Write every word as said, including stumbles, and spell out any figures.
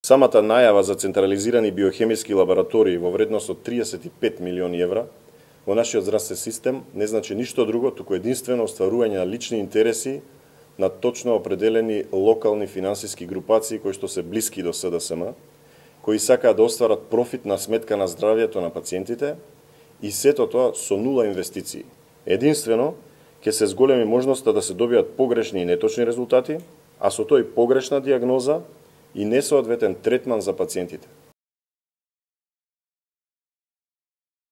Самата најава за централизирани биохемиски лаборатории во вредност од триесет и пет милиони евра во нашиот здравствен систем не значи ништо друго, туку единствено остварување на лични интереси на точно определени локални финансиски групации кои што се блиски до С Д С М, кои сакаат да остварат профит на сметка на здравјето на пациентите и сето тоа со нула инвестиции. Единствено ќе се зголеми можноста да се добијат погрешни и неточни резултати, а со тој погрешна диагноза и несоодветен третман за пациентите.